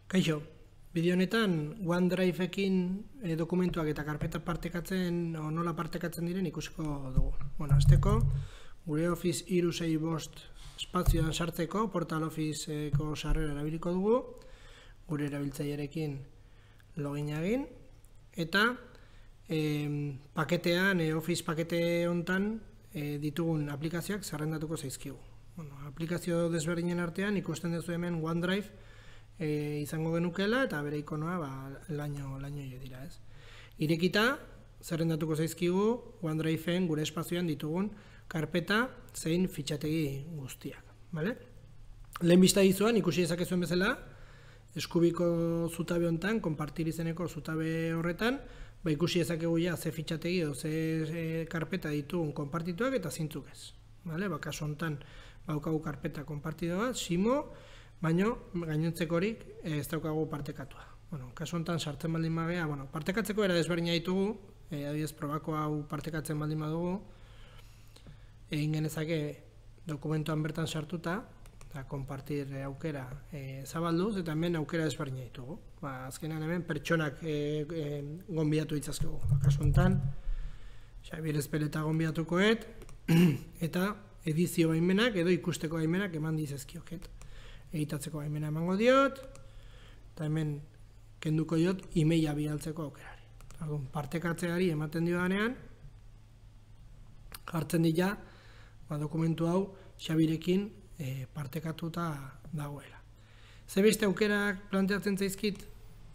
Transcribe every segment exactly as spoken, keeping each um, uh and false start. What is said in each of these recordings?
Kaixo, bideo honetan OneDrive-ekin e, dokumentuak eta karpeta partekatzen o nola partekatzen diren ikusiko dugu. Bueno, azteko, gure Office hiru sei bost espazioan sartzeko Portal Office-eko sarrera erabiliko dugu, gure erabiltzailearekin login egin, eta e, paketean, e, Office pakete hontan e, ditugun aplikazioak zerrendatuko zaizkigu. Bueno, aplikazio desberdinen artean ikusten duzu hemen OneDrive E, izango genukela eta bere ikonoa ba, laino, laino jo dira, ez. Irekita, zerrendatuko zaizkigu OneDrive-en gure espazioan ditugun karpeta zein fitxategi guztiak, bale? Lehen bista izuan ikusi dezakezuen bezala, eskubiko zutabe hontan, konpartir izeneko zutabe horretan, ba, ikusi dezakegu ja ze fitxategi edo ze e, karpeta ditugun konpartituak eta zintzuk ez. Bale? Ba, kasu hontan baukagu karpeta konpartidoa, Simo, baina gainontzekorik horik ez daukagu partekatua. Bueno, kasu honetan sartzen baldin bagea, bueno, partekatzeko era desberdina ditugu, e, adibidez probako hau partekatzen baldin badugu, egin genezake dokumentuan bertan sartuta, eta konpartir aukera e, zabalduz, eta hemen aukera desberdina ditugu. Ba, azkenean hemen pertsonak e, e, gonbidatu ditzazkegu. Ba, kasu honetan, Xabier Ezpeleta gonbidatukoet, eta edizio baimenak edo ikusteko baimenak eman dizazkioket. Egitatzeko baimena emango diot, eta hemen kenduko diot emaila bidaltzeko aukerari. Orduan, partekatzeari ematen diodanean, jartzen dira ba, dokumentu hau Xabirekin e, partekatuta dagoela. Ze beste aukerak planteatzen zaizkit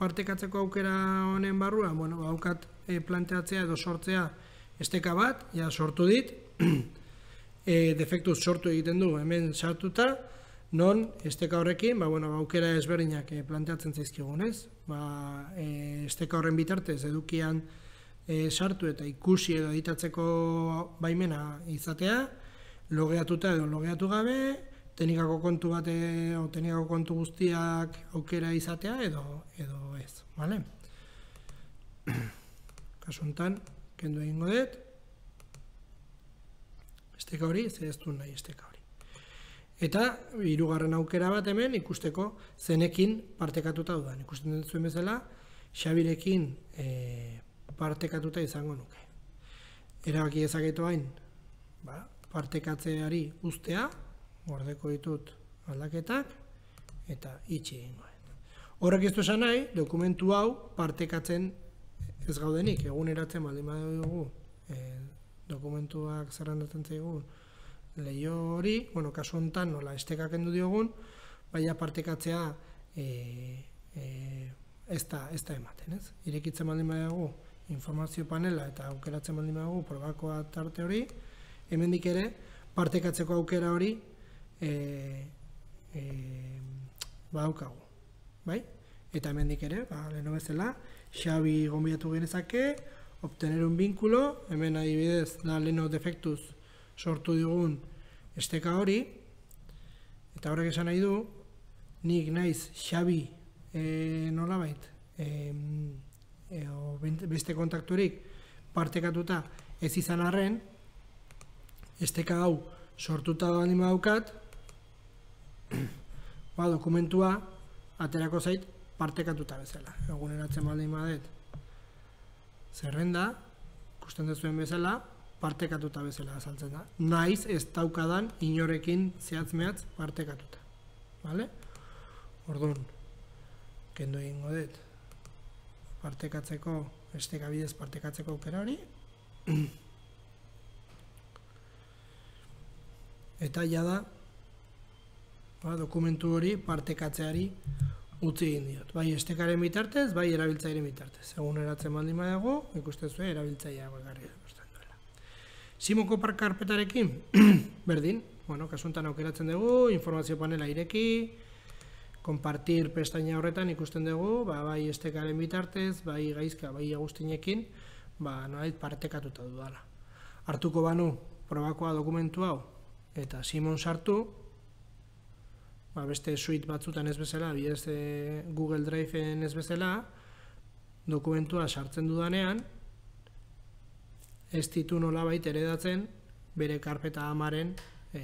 partekatzeko aukera honen barrua? Bueno, haukat e, planteatzea edo sortzea esteka bat, ja sortu dit, e, defektuz sortu egiten du hemen sartuta, non, esteka horrekin, ba, bueno, aukera ezberdinak e, planteatzen zaizkigunez. Ba, e, esteka horren bitartez edukian e, sartu eta ikusi edo editatzeko baimena izatea, logeatuta edo logeatu gabe, teknikako kontu bat edo teknikako kontu guztiak aukera izatea edo, edo ez. Vale? Kasu honetan, kendu egingo dut, esteka hori, ez ez du nahi esteka hori. Eta hirugarren aukera bat hemen ikusteko zenekin partekatuta dudan. Ikusten zuen bezala, Xabirekin e, partekatuta izango nuke. Erabaki dezaketu hain, ba, partekatzeari uztea, gordeko ditut aldaketak, eta itxi egingo. Horrek ez du esan nahi, dokumentu hau partekatzen ez gaudenik, eguneratzen baldin badugu e, dokumentuak zerrendatzen zaigun, lehio hori, bueno, kasu honetan nola esteka kendu diogun, baina partekatzea e, e, ez da, ez da ematen, ez? Irekitzen baldin badago informazio panela eta aukeratzen baldin badago probakoa tarte hori, hemendik ere partekatzeko aukera hori e, e, badaukagu, bai? Eta hemendik ere, ba, leheno bezala, Xabi gonbidatu genezake, obtener un vínculo, hemen adibidez da leheno defektuz sortu digun esteka hori, eta horrek esan nahi du, nik naiz Xabi e, nolabait, e, e, o beste kontakturik partekatuta ez izan arren, esteka hau sortuta baldin badaukat, ba, dokumentua aterako zait partekatuta bezala. Eguneratzen baldin badet zerrenda, ikusten duzuen bezala, partekatuta bezala azaltzen da. Naiz ez daukadan inorekin zehatz-mehatz partekatuta. Vale? Orduan, kendu egingo dut partekatzeko, esteka bidez partekatzeko aukera hori. Eta jada, ba, dokumentu hori partekatzeari utzi egin diot. Bai estekaren bitartez, bai erabiltzaileen bitartez. Eguneratzen baldin badago, ikusten zuen erabiltzailea bakarrik ikusten duela. Simoko karpetarekin, berdin, bueno, kasu honetan aukeratzen dugu, informazio panela ireki, konpartir pestaina horretan ikusten dugu, ba, bai estekaren bitartez, bai gaizka, bai aguztinekin, ba, nolait partekatuta dudala. Hartuko banu probakoa dokumentu hau, eta Simon sartu, ba, beste suite batzutan ez bezala, bidez Google Drive-en ez bezala, dokumentua sartzen dudanean, ez ditu nolabait eredatzen bere karpeta amaren e,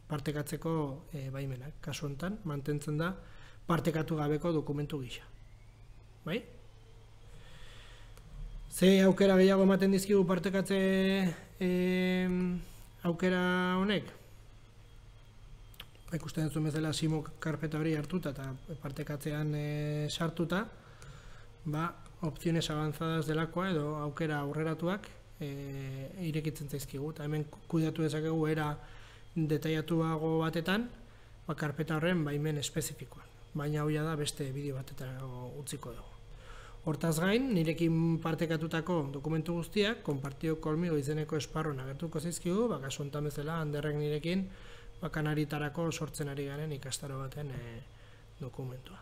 partekatzeko e, baimenak. Kasu honetan, mantentzen da partekatu gabeko dokumentu gisa. Bai? Ze aukera gehiago ematen dizkigu partekatze e, aukera honek? Ikusten dut bezala simo karpeta hori hartuta eta partekatzean e, sartuta, ba, opciones avanzadas delakoa edo aukera aurreratuak e, irekitzen zaizkigu. Eta hemen kudeatu dezakegu era detaiatuago batetan, ba, karpeta horren baimen espezifikoan. Baina hau da beste bideo batetan utziko dugu. Hortaz gain, nirekin partekatutako dokumentu guztiak, konpartio kolmigo izeneko esparruan agertuko zaizkigu, ba, kasu honetan bezala, Anderrek nirekin ba, Kanaritarako sortzen ari garen ikastaro baten e, dokumentua.